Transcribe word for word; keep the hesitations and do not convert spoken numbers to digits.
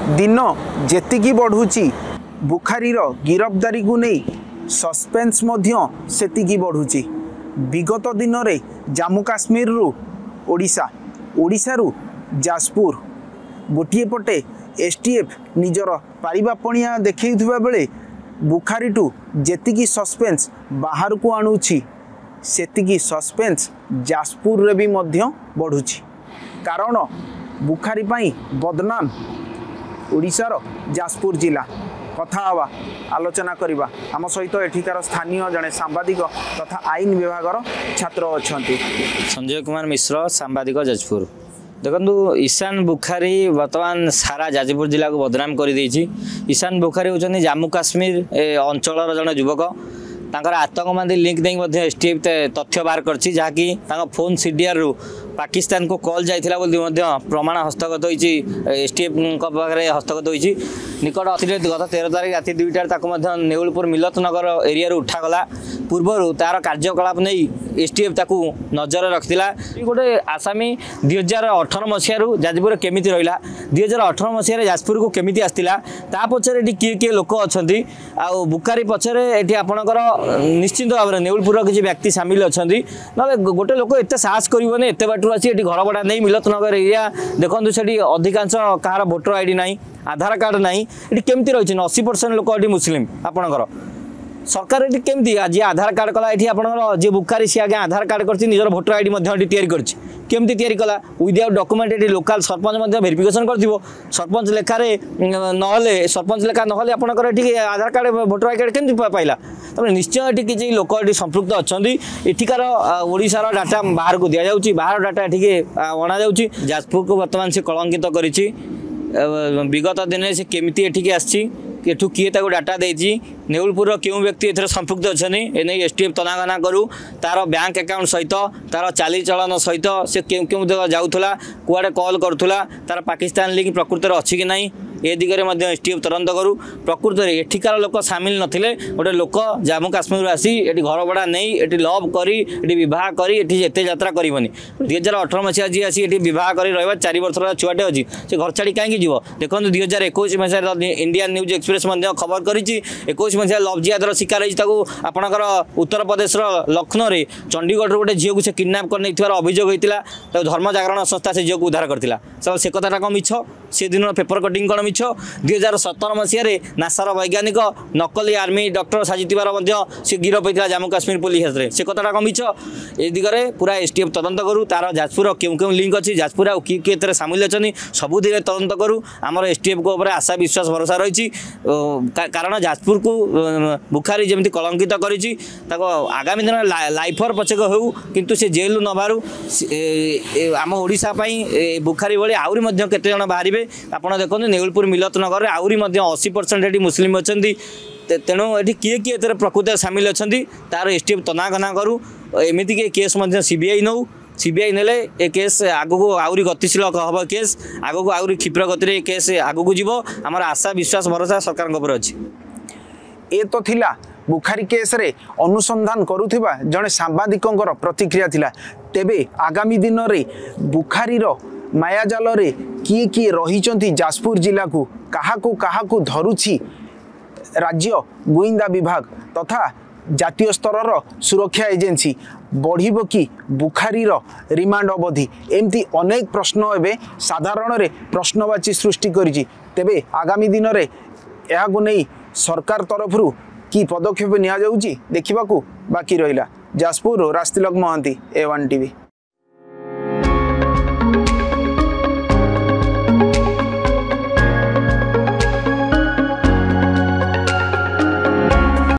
ଦିନ ଯେତିକି ବଢ଼ୁଛି, ବୁଖାରୀର ଗିରଫଦାରୀକୁ ନେଇ ସସ୍ପେନ୍ସ ମଧ୍ୟ ସେତିକି ବଢ଼ୁଛି। ବିଗତ ଦିନରେ ଜାମ୍ମୁ କାଶ୍ମୀରରୁ ଓଡ଼ିଶା, ଓଡ଼ିଶାରୁ ଯାଜପୁର, ଗୋଟିଏ ପଟେ ଏସ୍ଟିଏଫ୍ ନିଜର ପାରିବା ପଣିଆ ଦେଖାଉଥିବା ବେଳେ ବୁଖାରୀଠୁ ଯେତିକି ସସ୍ପେନ୍ସ ବାହାରକୁ ଆଣୁଛି, ସେତିକି ସସ୍ପେନ୍ସ ଯାଜପୁରରେ ବି ମଧ୍ୟ ବଢ଼ୁଛି। କାରଣ ବୁଖାରୀ ପାଇଁ ବଦନାମ ଓଡ଼ିଶାର ଯାଜପୁର ଜିଲ୍ଲା। କଥା ହେବା, ଆଲୋଚନା କରିବା। ଆମ ସହିତ ଏଠିକାର ସ୍ଥାନୀୟ ଜଣେ ସାମ୍ବାଦିକ ତଥା ଆଇନ ବିଭାଗର ଛାତ୍ର ଅଛନ୍ତି। ସଞ୍ଜୟ କୁମାର ମିଶ୍ର, ସାମ୍ବାଦିକ, ଯାଜପୁର। ଦେଖନ୍ତୁ, ଇଶାନ ବୁଖାରୀ ବର୍ତ୍ତମାନ ସାରା ଯାଜପୁର ଜିଲ୍ଲାକୁ ବଦନାମ କରିଦେଇଛି। ଇଶାନ ବୁଖାରୀ ହେଉଛନ୍ତି ଜାମ୍ମୁ କାଶ୍ମୀର ଅଞ୍ଚଳର ଜଣେ ଯୁବକ। ତାଙ୍କର ଆତଙ୍କବାଦୀ ଲିଙ୍କ ନେଇ ମଧ୍ୟ ଏସ୍ ଟି ଏଫ୍ ତଥ୍ୟ ବାହାର କରିଛି, ଯାହାକି ତାଙ୍କ ଫୋନ୍ ସିଡିଆରରୁ ପାକିସ୍ତାନକୁ କଲ୍ ଯାଇଥିଲା ବୋଲି ମଧ୍ୟ ପ୍ରମାଣ ହସ୍ତଗତ ହୋଇଛି, ଏସ୍ ଟି ଏଫ୍ଙ୍କ ପାଖରେ ହସ୍ତଗତ ହୋଇଛି। ନିକଟ ଅତୀତରେ ଗତ ତେର ତାରିଖ ରାତି ଦୁଇଟାରେ ତାକୁ ମଧ୍ୟ ନେଉଳପୁର ମିଲତ ନଗର ଏରିଆରୁ ଉଠାଗଲା। ପୂର୍ବରୁ ତାର କାର୍ଯ୍ୟକଳାପ ନେଇ ଏସ୍ ଟି ଏଫ୍ ତାକୁ ନଜରରେ ରଖିଥିଲା। ଗୋଟେ ଆସାମୀ ଦୁଇ ହଜାର ଅଠର ମସିହାରୁ ଯାଜପୁରରେ କେମିତି ରହିଲା, ଦୁଇ ହଜାର ଅଠର ମସିହାରେ ଯାଜପୁରକୁ କେମିତି ଆସିଥିଲା, ତା ପଛରେ ଏଠି କିଏ କିଏ ଲୋକ ଅଛନ୍ତି, ଆଉ ବୁକାରୀ ପଛରେ ଏଠି ଆପଣଙ୍କର ନିଶ୍ଚିନ୍ତ ଭାବରେ ନେଉଳପୁରର କିଛି ବ୍ୟକ୍ତି ସାମିଲ ଅଛନ୍ତି। ନହେଲେ ଗୋଟେ ଲୋକ ଏତେ ସାହସ କରିବନି, ଏତେ ବାଟରୁ ଆସି ଏଠି ଘର ଭଡ଼ା ନେଇ। ମିଲତ ନଗର ଏରିଆ ଦେଖନ୍ତୁ, ସେଠି ଅଧିକାଂଶ କାହାର ଭୋଟର I D ନାହିଁ, ଆଧାର କାର୍ଡ଼ ନାହିଁ। ଏଠି କେମିତି ରହିଛନ୍ତି? ଅଶୀ ପରସେଣ୍ଟ ଲୋକ ଏଠି ମୁସଲିମ। ଆପଣଙ୍କର ସରକାର ଏଠି କେମିତି ଯିଏ ଆଧାର କାର୍ଡ଼ କଲା? ଏଠି ଆପଣଙ୍କର ଯିଏ ବୁକାରୀ, ସିଏ ଆଜ୍ଞା ଆଧାର କାର୍ଡ଼ କରିଛି, ନିଜର ଭୋଟର I D ମଧ୍ୟ ଏଠି ତିଆରି କରିଛି। କେମିତି ତିଆରି କଲା ୱିଦାଉଟ୍ ଡକୁମେଣ୍ଟ? ଏଠି ଲୋକାଲ ସରପଞ୍ଚ ମଧ୍ୟ ଭେରିଫିକେସନ୍ କରିଥିବ। ସରପଞ୍ଚ ଲେଖାରେ ନହେଲେ, ସରପଞ୍ଚ ଲେଖା ନହେଲେ ଆପଣଙ୍କର ଏଠି ଆଧାର କାର୍ଡ଼, ଭୋଟର I card କେମିତି ପାଇଲା? ତାପରେ ନିଶ୍ଚୟ ଏଠି କିଛି ଲୋକ ଏଠି ସମ୍ପୃକ୍ତ ଅଛନ୍ତି। ଏଠିକାର ଓଡ଼ିଶାର ଡାଟା ବାହାରକୁ ଦିଆଯାଉଛି, ବାହାର ଡାଟା ଏଠିକି ଅଣାଯାଉଛି। ଯାଜପୁରକୁ ବର୍ତ୍ତମାନ ସେ କଳଙ୍କିତ କରିଛି। ବିଗତ ଦିନରେ ସେ କେମିତି ଏଠିକି ଆସିଛି, ଏଠୁ କିଏ ତାକୁ ଡାଟା ଦେଇଛି, ନେଉଳପୁରର କେଉଁ ବ୍ୟକ୍ତି ଏଥିରେ ସମ୍ପୃକ୍ତ ଅଛନ୍ତି, ଏନେଇ ଏସ୍ ଟି ଏଫ୍ ତନାଘନା କରୁ। ତାର ବ୍ୟାଙ୍କ ଆକାଉଣ୍ଟ ସହିତ, ତାର ଚାଲିଚଳନ ସହିତ, ସେ କେଉଁ କେଉଁ ଜାଗା ଯାଉଥିଲା, କୁଆଡ଼େ କଲ୍ କରୁଥିଲା, ତାର ପାକିସ୍ତାନ ଲିଙ୍କ ପ୍ରକୃତରେ ଅଛି କି ନାହିଁ, ଏ ଦିଗରେ ମଧ୍ୟ ଏସ୍ ଟି ଏଫ୍ ତଦନ୍ତ କରୁ। ପ୍ରକୃତରେ ଏଠିକାର ଲୋକ ସାମିଲ ନଥିଲେ, ଗୋଟେ ଲୋକ ଜାମ୍ମୁ କାଶ୍ମୀରରୁ ଆସି ଏଠି ଘର ଭଡ଼ା ନେଇ, ଏଠି ଲଭ୍ କରି, ଏଠି ବିବାହ କରି, ଏଠି ଏତେ ଯାତ୍ରା କରିବନି। ଦୁଇ ହଜାର ଅଠର ମସିହା ଯିଏ ଆସି ଏଠି ବିବାହ କରି ରହିବ, ଚାରି ବର୍ଷର ଛୁଆଟେ ଅଛି, ସେ ଘର ଛାଡ଼ି କାହିଁକି ଯିବ? ଦେଖନ୍ତୁ, ଦୁଇ ହଜାର ଏକୋଇଶ ମସିହାରେ ଇଣ୍ଡିଆନ୍ ନ୍ୟୁଜ୍ ଏକ୍ସପ୍ରେସ୍ ମଧ୍ୟ ଖବର କରିଛି। ଏକୋଇଶ ମସିହା ଲଭ୍ ଜିହାଦର ଶିକାର ହେଇଛି। ତାକୁ ଆପଣଙ୍କର ଉତ୍ତରପ୍ରଦେଶର ଲକ୍ଷ୍ନୌରେ ଚଣ୍ଡିଗଡ଼ରୁ ଗୋଟେ ଝିଅକୁ ସେ କିଡ଼ନାପ୍ କରିନେଇଥିବାର ଅଭିଯୋଗ ହୋଇଥିଲା। ତାକୁ ଧର୍ମ ଜାଗରଣ ସଂସ୍ଥା ସେ ଝିଅକୁ ଉଦ୍ଧାର କରିଥିଲା। ସେ କଥାଟା କ'ଣ ମିଛ? ସେ ଦିନର ପେପର କଟିଂ କ'ଣ ମିଛ? ଦୁଇ ହଜାର ସତର ମସିହାରେ ନାସାର ବୈଜ୍ଞାନିକ ନକଲି ଆର୍ମି ଡକ୍ଟର ସାଜିଥିବାର ମଧ୍ୟ ସେ ଗିରଫ ହୋଇଥିଲା ଜାମ୍ମୁ କାଶ୍ମୀର ପୋଲିସ ହାତରେ। ସେ କଥାଟା କ'ଣ ମିଛ? ଏ ଦିଗରେ ପୁରା ଏସ୍ ଟି ଏଫ୍ ତଦନ୍ତ କରୁ। ତାର ଯାଜପୁର କେଉଁ କେଉଁ ଲିଙ୍କ ଅଛି, ଯାଜପୁର ଆଉ କିଏ କିଏ ଏଥିରେ ସାମିଲ ଅଛନ୍ତି, ସବୁ ଦିଗରେ ତଦନ୍ତ କରୁ। ଆମର ଏସ୍ ଟି ଏଫ୍ଙ୍କ ଉପରେ ଆଶା, ବିଶ୍ୱାସ, ଭରସା ରହିଛି। କାରଣ ଯାଜପୁରକୁ ବୁଖାରୀ ଯେମିତି କଳଙ୍କିତ କରିଛି, ତାକୁ ଆଗାମୀ ଦିନରେ ଲାଇଫର ପଛକ ହେଉ, କିନ୍ତୁ ସେ ଜେଲରୁ ନ ବାହାରୁ। ଆମ ଓଡ଼ିଶା ପାଇଁ ବୁଖାରୀ ଭଳି ଆହୁରି ମଧ୍ୟ କେତେ ଜଣ ବାହାରିବେ, ଆପଣ ଦେଖନ୍ତୁ। ନେଉଳପୁର ମିଲତ ନଗରରେ ଆହୁରି ମଧ୍ୟ ଅଶୀ ପରସେଣ୍ଟ ଏଠି ମୁସଲିମ ଅଛନ୍ତି। ତେଣୁ ଏଠି କିଏ କିଏ ଏଥିରେ ପ୍ରକୃତରେ ସାମିଲ ଅଛନ୍ତି, ତାର ଏସ୍ ଟି ଏଫ୍ ତନାଘନା କରୁ। ଏମିତିକି ଏ କେସ୍ ମଧ୍ୟ ସି ବି I ନେଉ। ସି ବି I ନେଲେ ଏ କେସ୍ ଆଗକୁ ଆହୁରି ଗତିଶୀଳ ହେବ, କେସ୍ ଆଗକୁ ଆହୁରି କ୍ଷିପ୍ର ଗତିରେ ଏ କେସ୍ ଆଗକୁ ଯିବ। ଆମର ଆଶା, ବିଶ୍ୱାସ, ଭରସା ସରକାରଙ୍କ ଉପରେ ଅଛି। ଏ ତ ଥିଲା ବୁଖାରୀ କେସ୍ରେ ଅନୁସନ୍ଧାନ କରୁଥିବା ଜଣେ ସାମ୍ବାଦିକଙ୍କର ପ୍ରତିକ୍ରିୟା ଥିଲା। ତେବେ ଆଗାମୀ ଦିନରେ ବୁଖାରୀର ମାୟାଜାଲରେ କିଏ କିଏ ରହିଛନ୍ତି, ଯାଜପୁର ଜିଲ୍ଲାକୁ କାହାକୁ କାହାକୁ ଧରୁଛି ରାଜ୍ୟ ଗୁଇନ୍ଦା ବିଭାଗ ତଥା ଜାତୀୟ ସ୍ତରର ସୁରକ୍ଷା ଏଜେନ୍ସି, ବଢ଼ିବ କି ବୁଖାରୀର ରିମାଣ୍ଡ ଅବଧି, ଏମିତି ଅନେକ ପ୍ରଶ୍ନ ଏବେ ସାଧାରଣରେ ପ୍ରଶ୍ନବାଚୀ ସୃଷ୍ଟି କରିଛି। ତେବେ ଆଗାମୀ ଦିନରେ ଏହାକୁ ନେଇ ସରକାର ତରଫରୁ କି ପଦକ୍ଷେପ ନିଆଯାଉଛି, ଦେଖିବାକୁ ବାକି ରହିଲା। ଯାଜପୁରରୁ ରାଜତିଲକ ମହାନ୍ତି, ଏ ୱାନ୍ ଟିଭି।